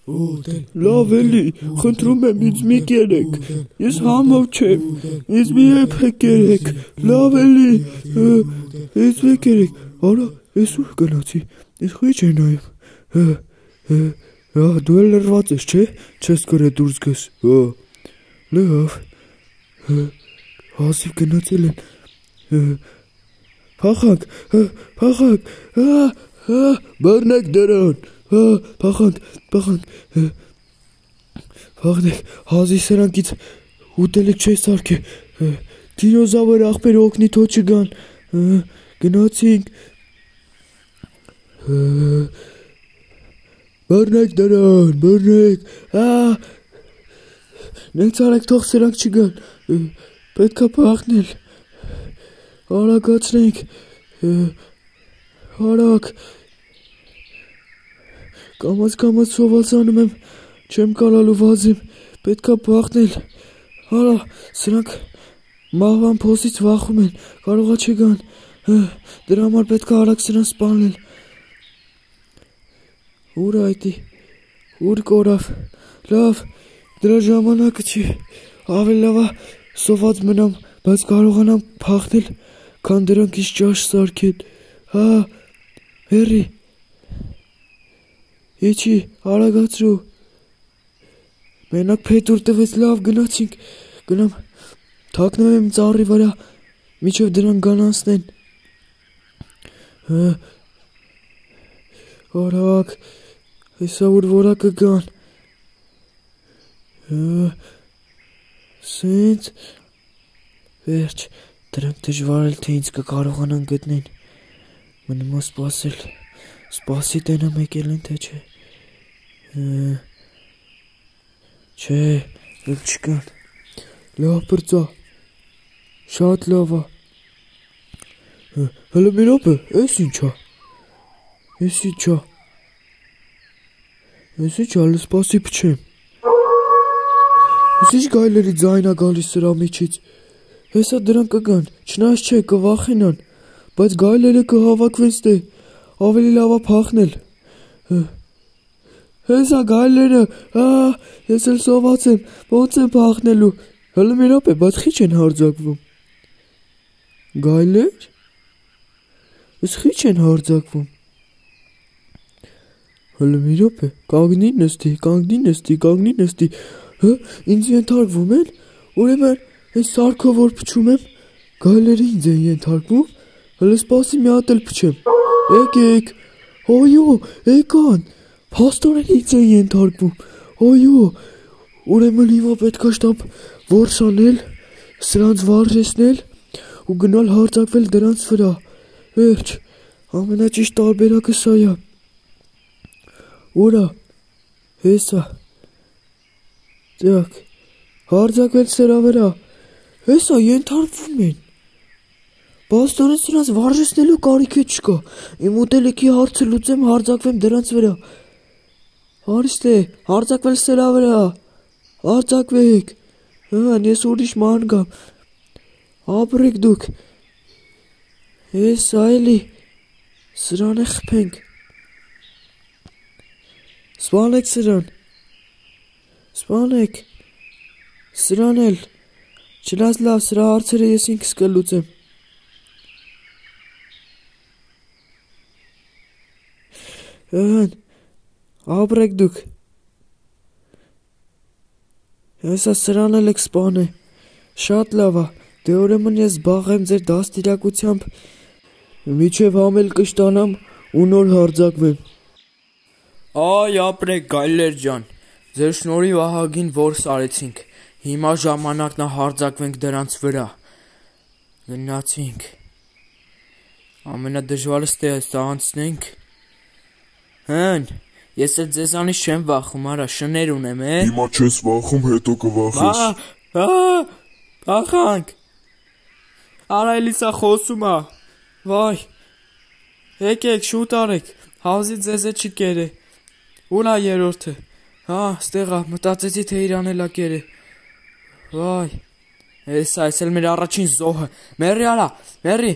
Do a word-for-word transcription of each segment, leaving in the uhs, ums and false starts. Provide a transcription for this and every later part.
Լավ էլի, խնդրում եմ ինձ մի կերեք, ես համով չեմ, ինձ մի եփեք կերեք, լավ էլի, ինձ մի կերեք, արա, ես ուր գնացի, ես խիչ է նայում, դու էլ լրված ես, չէ, չես կրե դուրս գես, լավ, հազիվ գնացել են, փախանք, փախանք, բռնեք դրան, փախանք, փախանք, փախնեք, հազի սրանքից ուտելիք չէ սարքե, դինոզավր աղբեր օգնի թո չգան, գնացինք, բռնեք դրան, բռնեք, նենց արեք թող սրանք չգան, պետք է փախնել, արագացնենք, արագ, կամաց կամաց սովածանում եմ, չեմ կարալու վազեմ, պետք է փախնել, արա, սրանք մահվան փոսից վախում են, կարողա չգան, դրա համար պետք է արագ սրանք սպանել, ուր այդի, ուր կորավ, լավ, դրա ժամանակը չի, ավելի լավ է սոված մնամ, բայց կարողանամ փախնել, քան դրանք իս ճաշ սարքեն, հա, հերի, իչի, արագացրու, մենակ փետուր տվեց, լավ գնացինք, գնամ, թակնեմ եմ ծառի վրա, միջև դրան գանանցնեն, արագ, հեսա ուր որակը գան, սենց, վերջ, դրանք դժվար էլ թե ինձ կկարողանան գտնեն, մնում է սպասել, սպասի տենա մեկ էլ են թե չէ, չէ, էլ չկան, լավ պրծա, շատ լավ է, հլը մի րոպե, ես ինչա, ես ինչա, ես ինչա, հլը սպասի պչեմ, ես ինչ գայլերի ձայնա գալիս սրա միջից, հեսա դրանք կգան, չնայած չէ, կվախենան, բայց գայլերը կհավաքվեն ստե, ավելի լավ է փախնել, հեսա գայլերը, ես էլ սոված եմ, ոնց եմ փախնելու, հլը մի րոպե, բայց խիչ են հարձակվում, գայլեր, ես խիչ են հարձակվում, հլը մի րոպե, կանգնի նստի, կանգնի նստի, կանգնի նստի, ինձ ենթարկվում են, ուրեմն այս սարքով որ փչում եմ, գայլերը ինձ են ենթարկվում, հլը սպասի մի հատ էլ փչեմ, եկեք, այո, եկան, փաստորեն ինձ են ենթարկվում, այո, ուրեմն հիմա պետք է շտապ որս անել, սրանց վարժեցնել ու գնալ հարձակվել դրանց վրա, վերջ, ամենաճիշտ տարբերակը սա է, ուրա, հեսա, ձյակ, հարձակվել սրա վրա, հեսա ենթարկվում են, բաստորեն սրանց վարժեցնելու կարիք է չկա, իմ ուտելիքի հարցը լուծեմ հարձակվեմ դրանց վրա, հարիստ է, հարձակվել սրա վրա, հարձակվեք, հան, ես ուրիշ ման գամ, ապրեք դուք, հեսա էլի, սրան է խպենք, սպանեք սրան, սպանեք, սրան էլ, չնայած լավ, սրա հարցերը ես ինքս կլուծեմ, հան, ապրեք դուք, հեսա սրան էլ եք սպանը, շատ լավ է, դե ուրեմն ես զբաղեմ ձեր դաստիարակությամբ, միջև համել կշտանամ ու նոր հարձակվեմ, այ ապրեք գայլեր ջան, ձեր շնորհիվ ահագին որս արեցինք, հիմա ժամանակն է հարձակվենք դրանց վրա, գնացինք, ամենադժվարը ստե հստա անցնենք, հն, ես էլ ձեզանից չեմ վախում, արա, շներ ունեմ, է, հիմա չես վախում, հետո կվախես, փախանք, արա էլի սա խոսում է, վայ, եկեք շուտ արեք, հազի ձեզ է չի կերը, ուր է երորդը, հա, ստեղա, մտածեցի թե իրան էլ է կերը, վայ, հեսա, ես էլ մեր առաջին զոհը, մերի արա, մերի,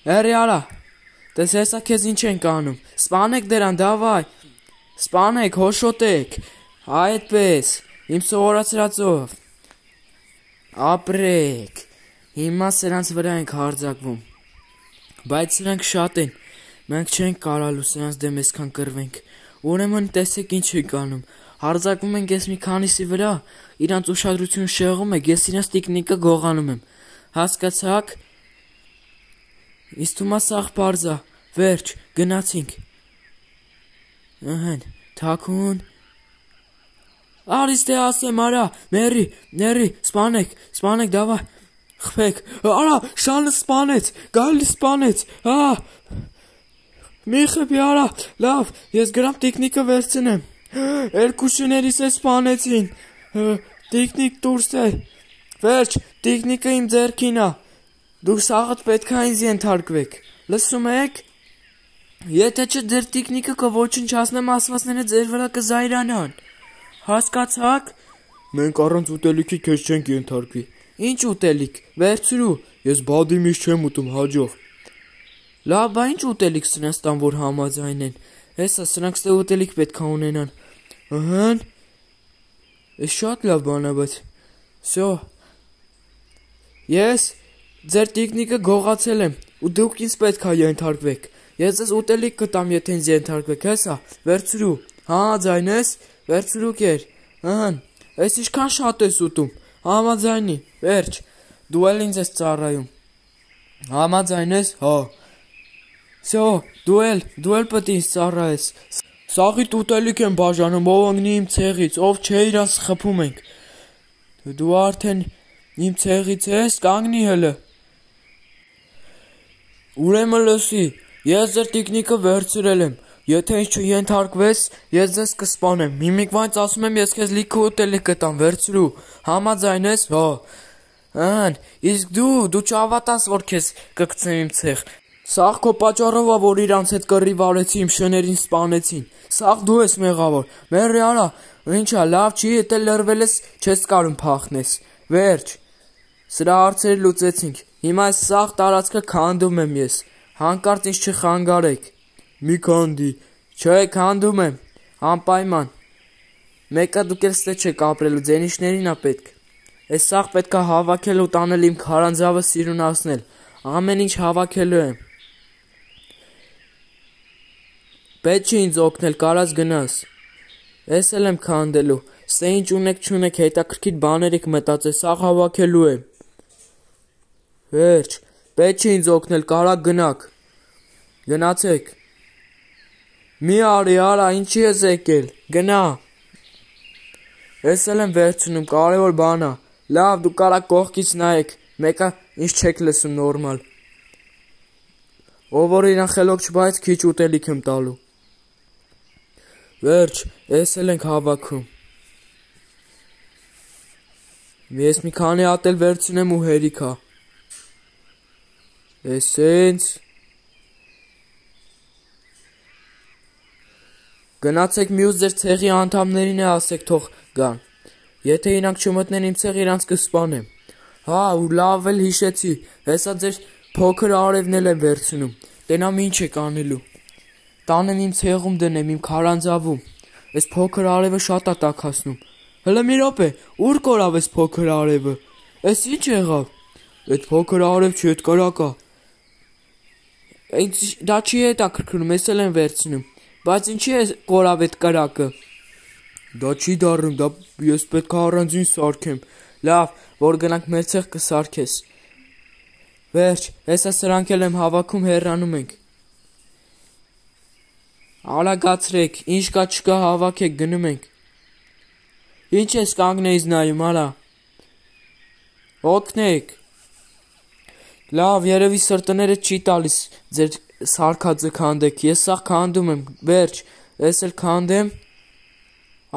մերի արա, տես հեսա քեզ ինչ ենք անում, սպանեք դրան, դավայ, սպանեք, հոշոտեք, Այդպես, իմ սովորացրածով։ Ապրեք, հիմա սրանց վրա ենք հարձակվում, բայց սրանք շատ են, մենք չենք կարալու սրանց դեմ այսքան կռվենք, ուրեմն տեսեք ինչ ենք անում, հարձակվում ենք ես մի քանիսի վրա, իրանց ուշադրություն շեղում եք, ես իրանց տիկնիկը գողանում եմ, հասկացաք, ինձ թվում է սաղ պարզ է, վերջ, գնացինք, ըհեն, թաքուն, արի ստե ասեմ, արա, մերի, ների, սպանեք, սպանեք, դավա, խփեք, արա, շանը սպանեց, գալի սպանեց, հա, մի խփի, արա, լավ, ես գրամ տիկնիկը վերցնեմ, երկու շներիս է սպանեցին, տիկնիկ դուրս է, վերջ, տիկնիկը իմ ձեռքին է, դուք սաղդ պետք է ինձ ենթարկվեք, լսում եք, եթե չէ ձեր տիկնիկը կոչնչացնեմ ասվածները ձեր վրա կզայրանան, հասկացաք, մենք առանց ուտելիքի քեզ չենք ենթարկվի, ինչ ուտելիք, վերցրու, ես բադի միշտ չեմ ուտում, հաջող, լավ, բա ինչ ուտելիք սրանց տան, որ համաձայն են, հեսա սրանք ստե ուտելիք պետք է ունենան, ըհեն, ես շատ լավ բան է, բայց, սո, ես ձեր տիկնիկը գողացել եմ, ու դուք ինձ պետք է ենթարկվեք, ես ձեզ ուտելիք կտամ, եթե ինձ ենթարկվեք, հեսա, վերցրու, համաձայն ես, վերցրու կեր, ըհեն, ես ինչքան շատ ես ուտում, համաձայնի, վերջ, դու էլ ինձ ես ծառայում, համաձայն ես, հա, սո, դու էլ, դու էլ պետք ինձ ծառայես, սաղիտ ուտելիք եմ բաժանում, ով ընգնի իմ ցեղից, ով չէ իրանց խփում ենք, դու արդեն իմ ցեղից ես, կանգնի հլը, ուրեմն լսի, ես ձեր տիկնիկը վերցրել եմ, եթե ինձ չենթարկվես, ես ձեզ կսպանեմ, միմիկվանց ասում եմ, ես քեզ լիքը ուտելիք կտամ, վերցրու, համաձայն ես, հա, ըհն, իսկ դու, դու չհավատաս, որ քեզ կգցեմ իմ ցեղ, սաղ քո պատճառով է, որ իրանց հետ կռիվ արեցի, իմ շներին սպանեցին, սաղ դու ես մեղավոր, մերի արա, ինչա, լավ չի, եթե լրվել ես, չես կարում փախնես, վերջ, սրա հարցերը լուծեցինք, հիմա այս սաղ տարածքը քանդում եմ ես, հանկարծ ինձ չխանգարեք, մի քանդի, չէ, քանդում եմ, անպայման, մեկը դուք էլ ստե չեք ապրելու, ձենիշներին է պետք, այս սաղ պետք է հավաքել ու տանել իմ քարանձավը սիրունացնել, ամեն ինչ հավաքելու եմ, պետք չի ինձ օգնել, կարած գնաս, ես էլ եմ քանդելու, ստե ինչ ունեք չունեք, հետաքրքիր բաներ եք մտածել, սաղ հավաքելու եմ, վերջ, պետք չի ինձ օգնել, կարակ գնաք, գնացեք, մի արի արա, ինչի ես եկել, գնա, ես էլ եմ վերցնում, կարևոր բան է, լավ, դու կարակ կողքից նայեք, մեկը ինչ չեք լսում նորմալ, ով որ իրան խելոք չբայց քիչ ուտելիք եմ տալու, վերջ, ես էլ ենք հավաքում, ես մի քանի հատ էլ վերցնեմ ու հերիքա, ես ինձ, գնացեք մյուս ձեր ցեղի անդամներին է ասեք թող գան, եթե իրանք չմտնեն իմ ցեղ իրանց կսպանեմ, հա ու լավ էլ հիշեցի, հեսա ձեր փոքր արևն էլ եմ վերցնում, տենամ ինչ եք անելու, տանեմ իմ ցեղում դնեմ իմ քարանձավում, այս փոքր արևը շատ է տաքացնում, հլը մի րոպե, ուր կորավ այս փոքր արևը, այս ինչ եղավ, այդ փոքր արև չի, այդ կրակա, դա չի հետաքրքրում, ես էլ եմ վերցնում, բայց ինչի է կորավ այդ կրակը, դա չի դառնում, դա ես պետք է առանձին սարքեմ, լավ, որ գնանք մեր ցեղ կսարքես, վերջ, հեսա սրանք էլ եմ հավաքում, հեռանում ենք, Ալագացրեք, ինչ կա չկա հավաքեք, գնում ենք, ինչ ես կանգնեից նայում, արա, օգնեք, լավ, երևի սրտները չի տալիս ձեր սարքածը քանդեք, ես սաղ քանդում եմ, վերջ, ես էլ քանդեմ,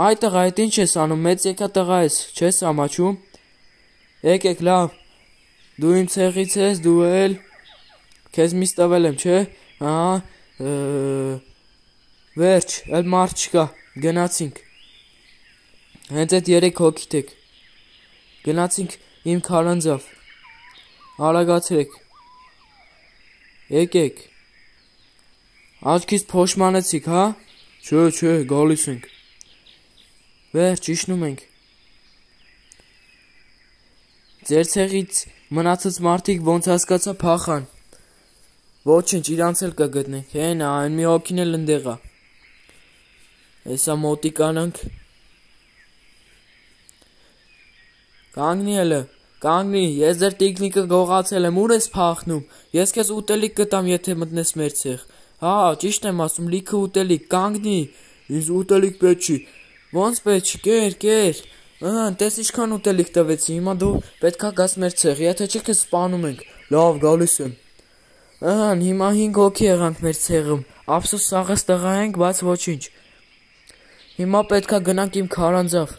այ տղա, այդ ինչ ես անում, մեծ եկա տղա ես, չես ամաչում, եկեք, լավ, դու իմ ցեղից ես, դու էլ, քեզ միս տվել եմ, չէ, ահա, վերջ, էլ մարդ չկա, գնացինք, հենց այդ երեք հոգիտ եք, գնացինք իմ քարանձավ, արագացրեք, եկեք, աչքից փոշմանեցիք, հա, չէ, չէ, գալիս ենք, Վերջ, իջնում ենք։ Ձեր ցեղից մնացած մարդիկ ոնց հասկացա փախան։ Ոչինչ, իրանց էլ կգտնենք։ Հենա, այն մի հոգին էլ ընդեղ է։ Հեսա մոտի կանանք։ Կանգնի ելը, կանգնի, ես ձեր տիկնիկը գողացել եմ, ուր ես փախնում։ Ես քեզ ուտելիք կտամ, եթե մտնես մեր ցեղ։ Հա, ճիշտ եմ ասում, լիքը ուտելիք, կանգնի։ Ինձ ուտելիք պետք չի։ Ոնց պետք չի, կեր, կեր։ Ահա, տես ինչքան ուտելիք տվեցի, հիմա դու պետքա գաս մեր ցեղ, եթե չի քեզ սպանում ենք։ Լավ, գալիս եմ։ Ահա, հիմա հինգ հոգի եղանք մեր ցեղում։ Ափսոս սաղես տղա ենք, բայց ոչինչ։ Հիմա պետքա գնանք իմ քարանձավ։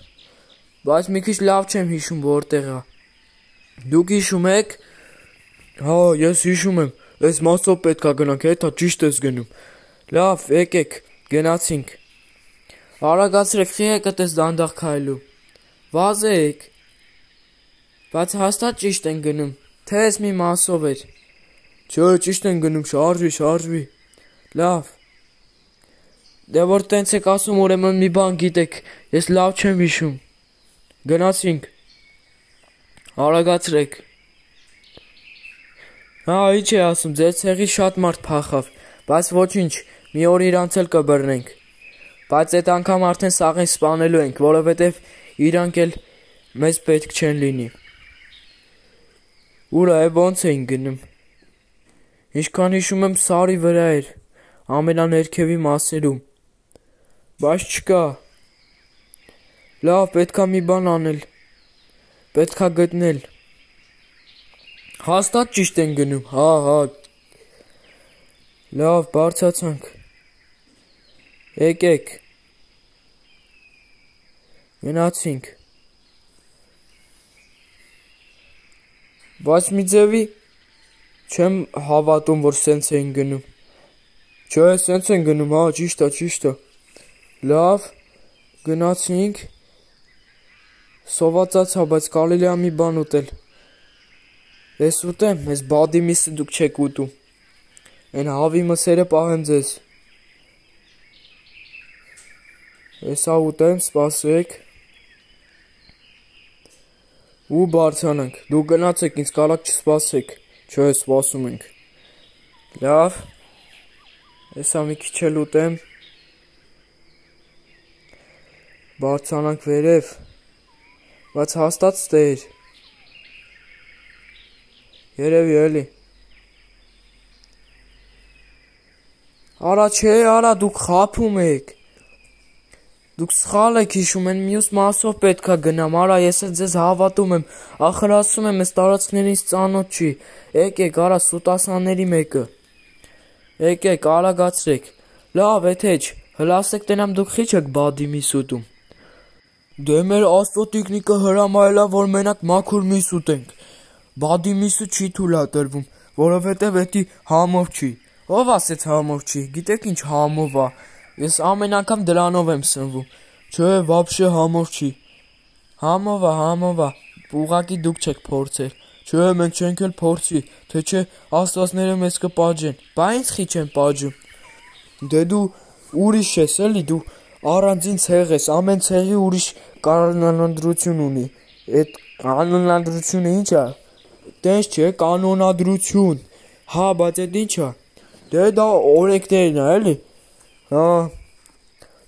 Բայց մի քիչ լավ չեմ հիշում որտեղ է։ Դուք հիշում եք։ Հա, ես հիշում եմ։ Այս մասով պետքա գնանք, հետա ճիշտ ես գնում։ Լավ, եկեք, գնացինք։ Արագացրեք, խի եկը տես դանդաղ քայլու։ Վազեք։ Բայց հաստատ ճիշտ են գնում, թե ես մի մասով էր։ Չէ, ճիշտ են գնում, շարժվի, շարժվի։ Լավ։ Դե որ տենց եք ասում, ուրեմն մի բան գիտեք, ես լավ չեմ հիշում։ Գնացինք։ Արագացրեք։ Հա, ինչ է ասում, ձեր ցեղի շատ մարդ փախավ, բայց ոչինչ, մի օր իրանց էլ կբռնենք։ Բայց այդ անգամ արդեն սաղին սպանելու ենք, որովհետև իրանք էլ մեզ պետք չեն լինի։ Ուրա է ոնց էին գնում։ Ինչքան հիշում եմ սարի վրա էր, ամենաներքևի մասերում։ Բայց չկա։ Լավ, պետքա մի բան անել։ Պետքա գտնել։ Հաստատ ճիշտ են գնում, հա, հա։ Լավ, բարձացանք։ Եկեք։ Գնացինք։ Բայց մի ձևի չեմ հավատում, որ սենց էին գնում։ Չէ, սենց են գնում, հա, ճիշտ է, ճիշտ է։ Լավ, գնացինք։ Սովածացա, բայց կարելի է մի բան ուտել։ Ես ուտեմ, ես բադի միսը դուք չեք ուտում։ Այն հավի մսերը պահեմ ձեզ։ Եսա ուտեմ, սպասեք։ Ու բարձանանք, դուք գնացեք, ինձ կարակ չսպասեք, չէ, սպասում ենք։ Լավ, եսա մի քիչ էլ ուտեմ։ Բարձանանք վերև, բայց հաստատ ստեր։ Երևի էլի։ Արա չէ, արա, դուք խափում եք։ Դուք սխալ եք հիշում, են մյուս մասով պետքա գնամ, արա, ես էլ ձեզ հավատում եմ, ախր ասում եմ, ես տարածքներից ծանոթ չի, եկեք, արա, սուտասանների մեկը, եկեք, արագացրեք, լավ, եթե չ, հլասեք տենամ դուք խիչ եք բադի միս ուտում, դե մեր աստծո տիկնիկը հրամայելա, որ մենակ մաքուր միս ուտենք, բադի միսը չի թուլա տրվում, որովհետև էդի համով չի, ով ասեց համով չի, գիտեք ինչ համով ա, ես ամեն անգամ դրանով եմ սնվում, չէ, վաբշե համով չի, համով ա, համով ա, ուղղակի դուք չեք փորձել, չէ, մենք չենք էլ փորձի, թե չէ աստվածները մեզ կպաջեն, բա ինձ խիչ են պաջում, դե դու ուրիշ ես էլի, դու առանձին ցեղ ես, ամեն ցեղի ուրիշ կանոնադրություն ունի, այդ կանոնադրությունը ինչ ա, տես չէ, կանոնադրություն, հա, բայց այդ ինչ ա, դե դա օրենքներն ա, էլի, հա,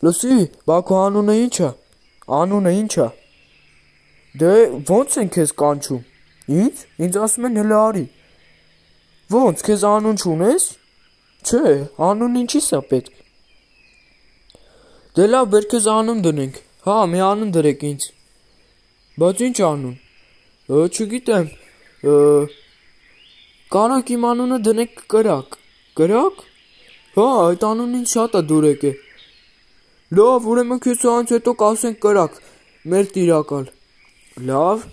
լսի, բա քո անունը ինչ ա, անունը ինչ ա, դե ոնց են քեզ կանչում, ինձ, ինձ ասում են հլը արի, ոնց, քեզ անուն չունես, չէ, անուն ինչիս ա պետք, դե լավ, բեր քեզ անուն դնենք, հա, մի անուն դրեք ինձ, բայց ինչ անուն, չգիտեմ, կարակ իմ անունը դնեք կրակ, կրակ, հա, այդ անունին շատ է դուրեք է, լավ, ուրեմն քեզ անց հետո կասենք կրակ, մեր տիրակալ, լավ,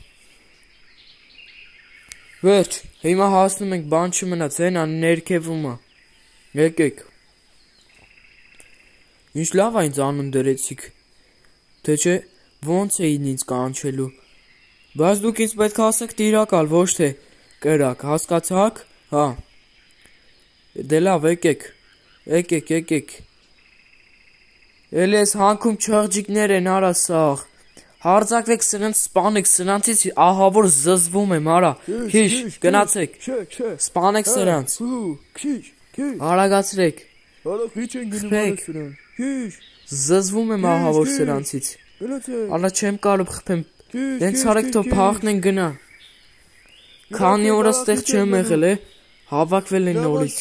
վերջ, հիմա հասնում ենք բան չմնաց, հենա ներքևում ա, եկեք, ինչ լավ է ինձ անուն դրեցիք, թե չէ ոնց էին ինձ կանչելու, բայց դուք ինձ պետք ասեք տիրակալ, ոչ թե կրակ, հասկացաք, հա, դե լավ, եկեք, եկեք, եկեք, Էլ ես հանքում չղջիկներ են արա սաղ։ Հարձակվեք սրանց սպանեք, սրանցից ահավոր զզվում եմ արա։ Քիչ, գնացեք։ Սպանեք սրանց։ Արագացրեք։ Քիչ։ Զզվում եմ ահավոր սրանցից։ Արա չեմ կարող խփեմ։ Դենց արեք թող փախնեն գնա։ Քանի օր այստեղ չեմ եղել է, հավաքվել են նորից։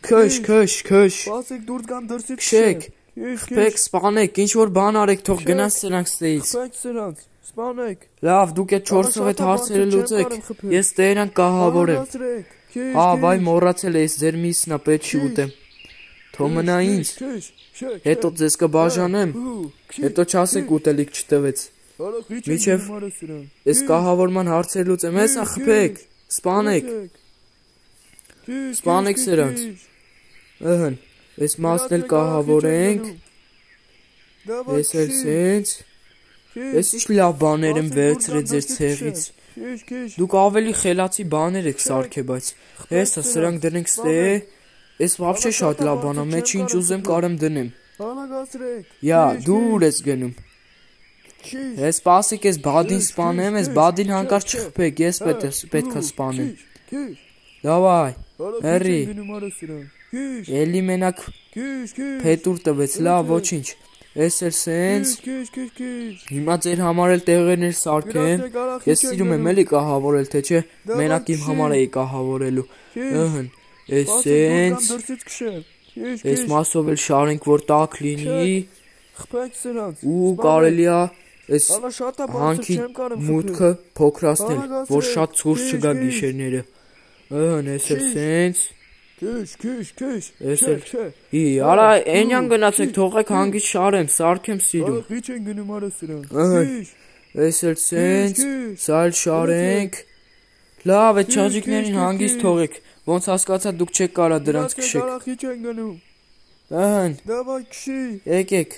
Քշ, քշ, քշ։ Բացեք դուրս գան դրսից։ Քշեք։ Խփեք, սպանեք, ինչ որ բան արեք, թող գնաց սրանք ստեից։ Խփեք սրանց, սպանեք։ Լավ, դուք այդ չորսով այդ հարցերը լուծեք։ Ես տերան կահավորեմ։ Հա, վայ մոռացել ես, ձեր միսնա պետք չի ուտեմ։ Թող մնա ինձ։ Հետո ձեզ կբաժանեմ։ Հետո չասեք ուտելիք չտվեց։ Միջև այս կահավորման հարցերը լուծեմ, հեսա խփեք, սպանեք։ Սպանեք սրանց։ Ըհն, այս մասն էլ կահավորենք։ Ես էլ սենց։ Ես ինչ լավ բաներ եմ վերցրել ձեր ցեղից։ Դուք ավելի խելացի բաներ եք սարքել, բայց հեսա սրանք դնենք ստե։ Ես вообще շատ լավ բան եմ, մեջ ինչ ուզեմ կարեմ դնեմ։ Յա, դուր ես գնում։ Ես սպասեք, ես բադին սպանեմ, ես բադին հանկարծ չխփեք, ես պետք է սպանեմ։ Դավայ, հերի։ Էլի մենակ փետուր տվեց, լավ, ոչինչ։ Ես էլ սենց։ Հիմա ձեր համար էլ տեղերներ սարքեմ։ Ես սիրում եմ էլի կահավորել, թե չէ, մենակ իմ համար էի կահավորելու։ Ըհն, ես սենց։ Ես մասով էլ շարենք, որ տաք լինի։ Ու կարելի է ես հանքի մուտքը փոքրացնել, որ շատ ցուրտ չգա գիշերները։ Ըհն, ես էլ սենց։ Քշ, քշ, քշ։ Ես էլ ի, արա այնյան գնացեք, թողեք հանգիստ շարեմ, սարքեմ սիրում։ Քիչ են գնում արա սրանք։ Ըհն, ես էլ սենց, սա էլ շարենք։ Լավ, այդ չղջիկներին հանգիստ թողեք, ոնց հասկացա դուք չեք կարա դրանց քշեք։ Քիչ են գնում։ Ըհն, Դավայ քշի։ եկեք,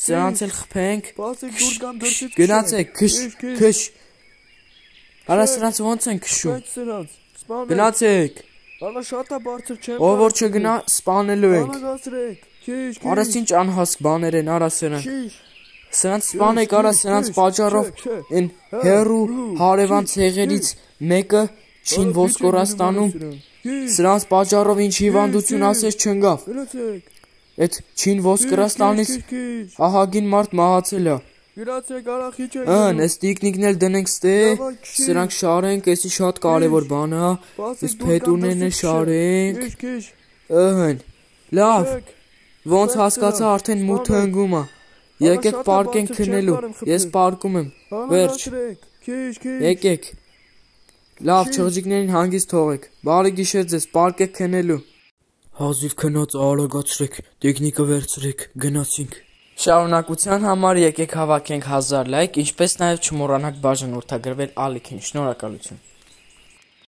սրանց էլ խփենք։ Բացեք դուրս գան դրսից։ Գնացեք, քշ, քշ։ Արա սրանց ոնց են քշում։ Գնացեք։ Ալա շատ է բարձր չեմ։ Ով որ չգնա, սպանելու ենք։ Ալագացրեք։ Քիչ, քիչ։ Արա ինչ անհասկ բաներ են, արա սրանք։ Սրանց սպանեք, արա սրանց պատճառով այն հերու հարևան ցեղերից մեկը չին ոսկորաստանում։ Սրանց պատճառով ինչ հիվանդություն ասես չընկավ։ Այդ չին ոսկորաստանից ահագին մարդ մահացել է։ Գնացեք, արա քիչ են։ Ըհն, այս տիկնիկն էլ դնենք ստե, սրանք շարենք, էսի շատ կարևոր բան է։ Այս փետուրներն էլ շարենք։ Ըհն, լավ։ Ոնց հասկացա արդեն մութը ընկում է։ Եկեք պարկենք քնելու։ Ես պարկում եմ։ Վերջ։ Եկեք։ Լավ, չղջիկներին հանգիստ թողեք։ Բարի գիշեր ձեզ, պարկեք քնելու։ Հազիվ քնած արագացրեք, տեխնիկը վերցրեք, գնացինք։ Շարունակության համար եկեք հավաքենք հազար լայք, ինչպես նաև չմոռանաք բաժանորդագրվել ալիքին, շնորհակալություն։